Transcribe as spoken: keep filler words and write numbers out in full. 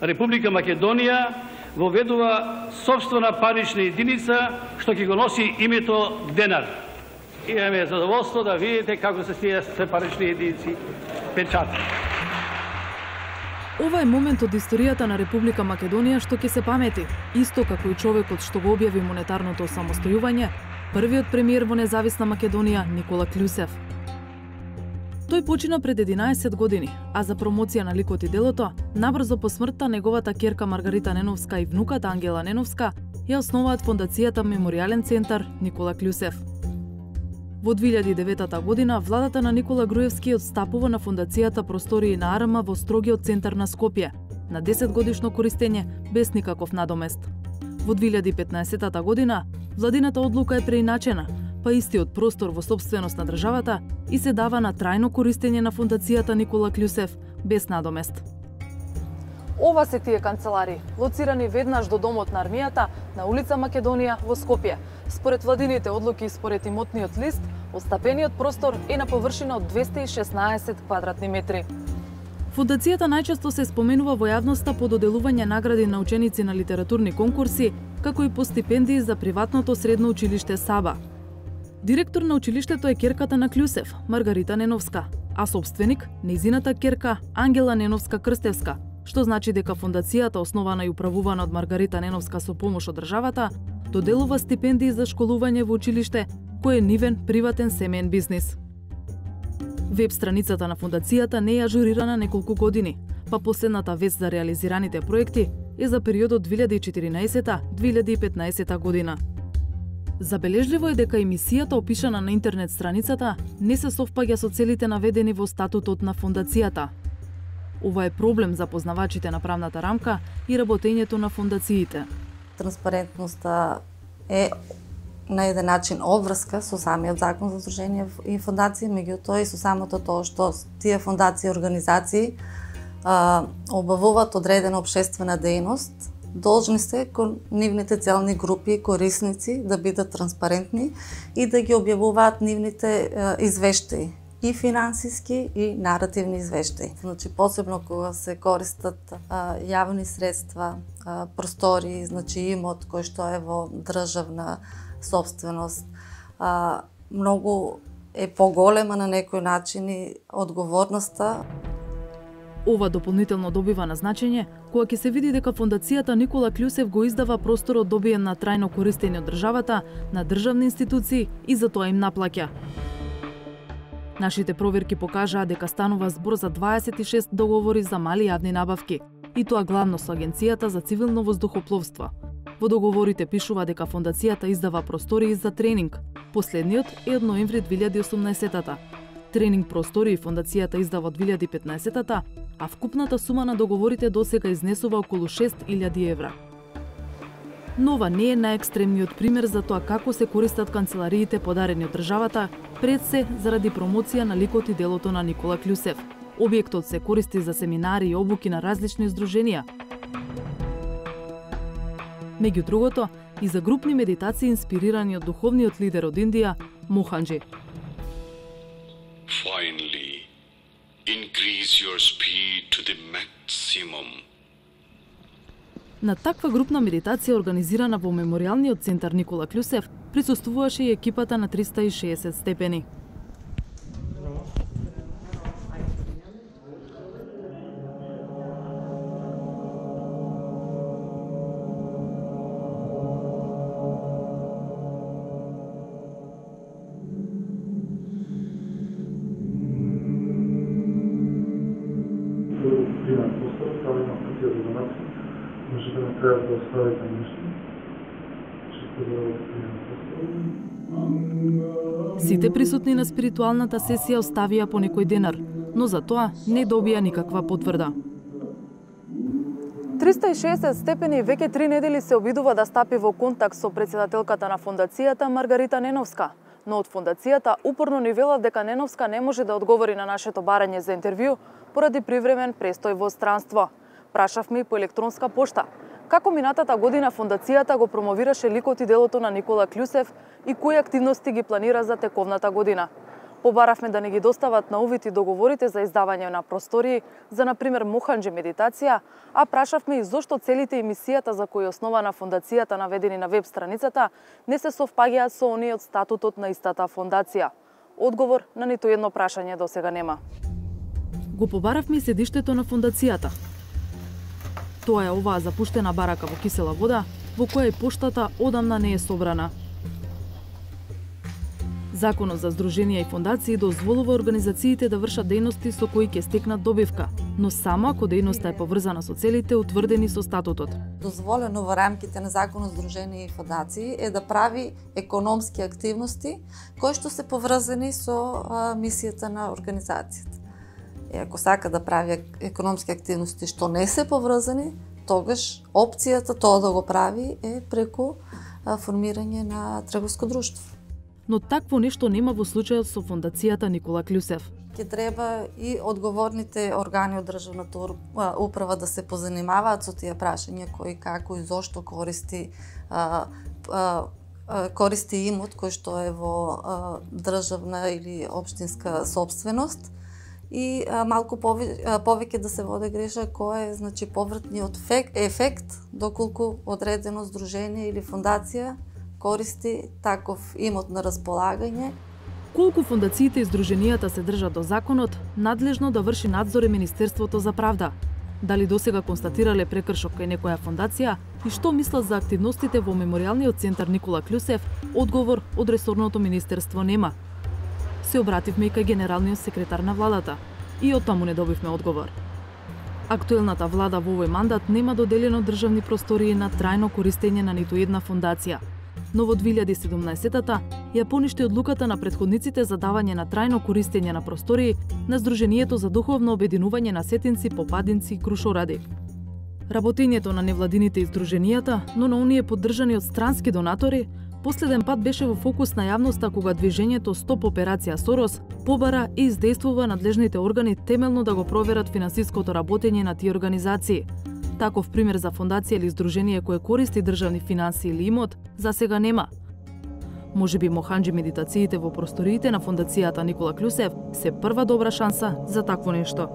Република Македонија воведува собствена парична единица што ќе го носи името денар. Имаме задоволство да видите како се тие се парични единици печатни. Ова е момент од историјата на Република Македонија што ќе се памети, исто како и човекот што го објави монетарното самостојување, првиот премиер во независна Македонија Никола Клјусев. Тој почина пред единаесет години, а за промоција на ликот и делото, набрзо по смртта неговата ќерка Маргарита Неновска и внуката Ангела Неновска ја основаат фондацијата Меморијален центар Никола Клјусев. Во две илјади и девета година, владата на Никола Груевски отстапува на фондацијата простории на АРМ во строгиот центар на Скопје, на десет годишно користење без никаков надомест. Во две илјади и петнаесета година, владината одлука е преиначена, па истиот простор во собственост на државата и се дава на трајно користење на фондацијата Никола Клјусев без надомест. Ова се тие канцелари, лоцирани веднаш до домот на армијата на улица Македонија во Скопје. Според владините одлуки и според имотниот лист, остапениот простор е на површина од двесте и шеснаесет квадратни метри. Фондацијата најчесто се споменува во јавноста по доделување награди на ученици на литературни конкурси, како и по стипендии за приватното средно училиште Саба. Директор на училиштето е ќерката на Клјусев, Маргарита Неновска, а собственик нејзината ќерка Ангела Неновска Крстевска, што значи дека фондацијата, основана и управувана од Маргарита Неновска со помош од државата, доделува стипендии за школување во училиште, кој е нивен приватен семеен бизнис. Веб страницата на фондацијата не е ажурирана неколку години, па последната вест за реализираните проекти е за периодот две илјади и четиринаесета до две илјади и петнаесета година. Забележливо е дека емисијата опишана на интернет страницата не се совпаѓа со целите наведени во статутот на фондацијата. Ова е проблем за познавачите на правната рамка и работењето на фондациите. Транспарентноста е на еден начин обврска со самиот закон за здружение и фондации, меѓутоа и со самото тоа што тие фондации и организации а, обавуваат одредена обшествена дејност, должни се кон нивните целни групи и корисници да бидат транспарентни и да ги објавуваат нивните а, извештаи, и финансиски и наративни извештаи. Значи, посебно кога се користат а, јавни средства, а, простори, значи имот кој што е во државна собственост, а, многу е поголема на некој начин и одговорноста. Ова дополнително добива на значење кога ќе се види дека фондацијата Никола Клјусев го издава просторот добиен на трајно користење од државата на државни институции и за тоа им наплаќа. Нашите проверки покажаа дека станува збор за дваесет и шест договори за мали јавни набавки, и тоа главно со Агенцијата за цивилно воздухопловство. Во договорите пишува дека фондацијата издава простории за тренинг. Последниот е од ноември две илјади и осумнаесета. Тренинг простории фондацијата издава од две илјади и петнаесета, а вкупната сума на договорите досега изнесува околу шест илјади евра. Но ова не е најекстремниот пример за тоа како се користат канцелариите подарени од државата, пред се заради промоција на ликот и делото на Никола Клјусев. Објектот се користи за семинари и обуки на различни здруженија. Меѓу другото, и за групни медитации инспирирани од духовниот лидер од Индија, Моханџи. Finally, increase your speed to the maximum. На таква групна медитација организирана во Меморијалниот центар Никола Клјусев присуствуваше и екипата на триста и шеесет степени. Може да не трябва да оставите нещо. Чисто да го Сите присутни на спиритуалната сесија оставија по некој денар, но за тоа не добија никаква потврда. триста и шеесет степени веќе три недели се обидува да стапи во контакт со претседателката на фондацијата Маргарита Неновска, но од фондацијата упорно ни велат дека Неновска не може да одговори на нашето барање за интервју поради привремен престој во странство. Прашавме и по електронска пошта. Како минатата година фондацијата го промовираше ликот и делото на Никола Клјусев и кои активности ги планира за тековната година? Побаравме да не ги достават на увид и договорите за издавање на простории за, например, Моханџи медитација, а прашавме и зошто целите емисијата за кои е основана фондацијата наведени на веб страницата не се совпаѓаат со оние од статутот на истата фондација. Одговор на ниту едно прашање до сега нема. Го побаравме и седиштето на фондацијата. Тоа е оваа запуштена барака во кисела вода, во која и поштата одамна не е собрана. Законот за здруженија и фондации дозволува организациите да вршат дејности со кои ќе стекнат добивка, но само ако дејноста е поврзана со целите утврдени со статутот. Дозволено во рамките на Законот за здруженија и фондации е да прави економски активности кои што се поврзани со а, мисијата на организацијата. И ако сака да прави економски активности што не се поврзани, тогаш опцијата тоа да го прави е преку а, формирање на трговско друштво. Но такво нешто нема во случајот со фондацијата Никола Клюсев. Ќе треба и одговорните органи од државната управа да се позанимаваат со тие прашања кои, како и зошто користи а, а, користи имот кој што е во а, државна или општинска собственост и а, малку повеќе, повеќе да се води грижа кој е значи повратниот ефект, ефект доколку одредено здружение или фондација користи таков имот на располагање. Колку фондациите и здруженијата се држат до законот, надлежно да врши надзор е Министерството за правда. Дали досега констатирале прекршок кај некоја фондација и што мислат за активностите во Меморијалниот центар Никола Клюсев, одговор од ресорното министерство нема. Се обративме и кај генералниот секретар на владата и од таму не добивме одговор. Актуелната влада во овој мандат нема доделено државни простории на трајно користење на ниту една фондација. Но во две илјади и седумнаесетта ја поништи одлуката на претходниците за давање на трајно користење на простории на Сдруженијето за духовно обединување на сетинци, попадинци и крушоради. Работењето на невладините и здруженијата, но на оние поддржани од странски донатори, последен пат беше во фокус на јавноста кога движењето Стоп операција Сорос побара и издействува надлежните органи темелно да го проверат финансиското работење на тие организации. Таков пример за фондација или здружение кое користи државни финанси или имот, за сега нема. Можеби Моханџи медитациите во просториите на фондацијата Никола Клюсев се прва добра шанса за такво нешто.